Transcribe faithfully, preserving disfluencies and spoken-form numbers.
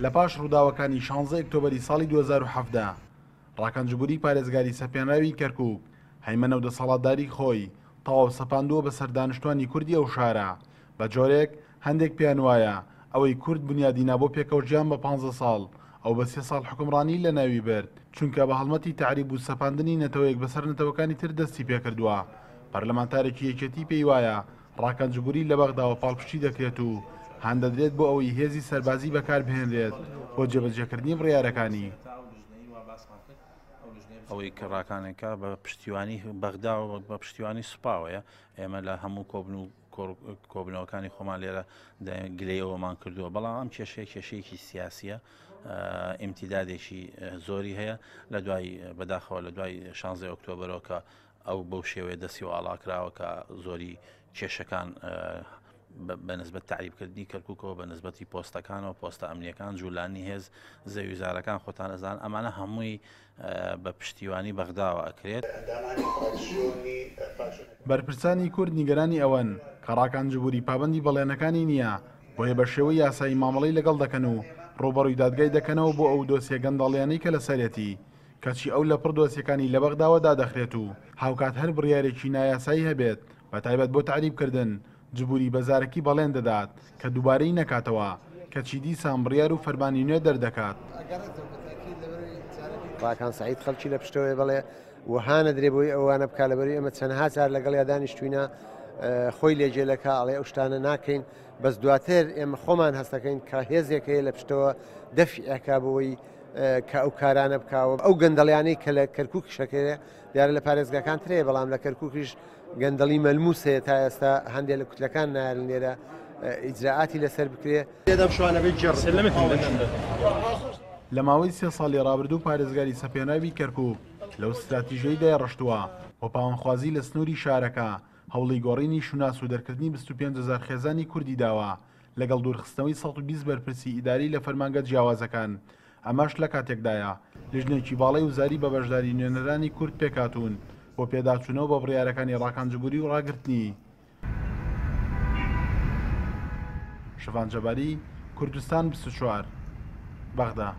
لە پاش ڕووداوەکانی شانزە ئۆکتۆبەری ساڵی دوو هەزار و حەڤدە، ڕاکان جبوری پارێزگاری سەپێنراوی کەرکوک هەیمەنە و دەسەڵاتداری خۆی تەواو سەپاندووە بەسەر دانیشتوانی کوردی ئەو شارە، بە جۆرێک هەندێک پێیان وایە ئەوەی کورد بنیادی نا بۆ پێکەوە ژیان بە پانزە ساڵ، ئەو بە سێ ساڵ حوکمڕانی لەناوی برد، چونکە بە هەڵمەتی تەعریب و سەپاندنی نەتەوەیەک بەسەر نەتەوەکانی تر دەستی پێکردووە. پەرلەمانتارێکی یەکێتی پێی وایە ڕاکان جبوری لە بەغداوە پاڵپشتی دەکرێت و هاندەدرێت بۆ ئەوەی هێزی سەربازی بەکاربهێنرێت بۆ جێبەجێکردنی بڕیارەکانی. ئەوەی کە ڕاکانێکە بە پشتیوانی بەغدا و بە پشتیوانی سوپاوەیە، ئێمە لە هەموو کۆبن و کۆبنەوەکانی خۆمان لێرە گلەیەوەمان کردووە، بەڵام ئەم کێشەیە کێشەیەکی سیاسیە، ئیمتیدادێکی زۆری هەیە لە دوای بەداخەوە لە دوای شانزەی ئۆکتۆبەرەوە کە ئەو بەو شێوەیە دەستی و ئاڵا کراوە کە زۆری کێشەکان بە نسبەت تعریبکردنی کەرکووکەوە، بە نسبەتی پۆستەکانەوە، پۆستە ئەمنیەکان، جوولانی هێز، زەویزارەکان خۆتان ئەزان، ئەمانە هەمووی بە پشتیوانی بەغداوە ئەکرێت. بەرپرسانی کورد نیگەرانی ئەوەن کە ڕاکان جبوری پابەندی بەڵێنەکانی نییە، بۆیە بە شێوەی یاسایی مامەڵەی لەگەڵ دەکەن و ڕووبەڕووی دادگای دەکەنەوە بۆ ئەو دۆسیە گەندەڵیانەی کە لەسەرێتی، کەچی ئەو لە پڕ دۆسیەکانی لە بەغداوە دادەخرێت و هاوکات هەر بڕیارێکی نایاسایی هەبێت بە تایبەت بۆ تعریبکردن جبوری بەزارەکی بەڵێن دەدات کە دووبارەی نەکاتەوە، کەچی دیسان بڕیار و فەرمانی نوێ دەردەکات. ڕاکان سعید خەڵکی لە پشتەوەی بڵێ وەها نەدرێ بۆی ئەوانە بکا، لەبەری ئێمە چەندها جار لەگەڵ یادانیشتوینە خۆی لێجێلەکە ئەڵێ ئەو شتانە ناکەین، بەس دواتر ئێمە خۆمان هەستەکەین کە هێزێک هەیە لە پشتەوە دەفعەکە بۆی کە ئەو کارانە بکاوە. ئەو گەندەڵیانەی کە لە کەرکووک شەکرێ دیارە لە پارێزگاکان ترەیە، بەڵام لە کەرکووکیش گەندەڵی مەلموس هەیە تا ئێستا هەندێک لە کوتلەکان نایەن لێرە ئیجراعاتی لەسەر بکرێ. لە ماوەی سێ ساڵی ڕابردوو پارێزگاری سەپێنراوی کەرکووک لەو استراتیژیەی دایڕشتووە بۆ پاوانخوازی لە سنووری شارەکە هەوڵی گۆڕینی شوناس و دەرکردنی بیست و پێنج هەزار خێزانی کوردی داوە، لەگەڵ دوورخستنەوەی سەد و بیست بەرپرسی ئیداری لە فەرمانگە جیاوازەکان. ئەمەش لە کاتێکدایە لیژنێکی باڵای وزاری بە بەشداری نوێنەرانی کورد پێکهاتوون بۆ پێداچوونەوە بە بڕیارەکانی ڕاکان جبوری و ڕاگرتنی. شڤان جەباری، کوردستان بیست و چوار، بەغدا.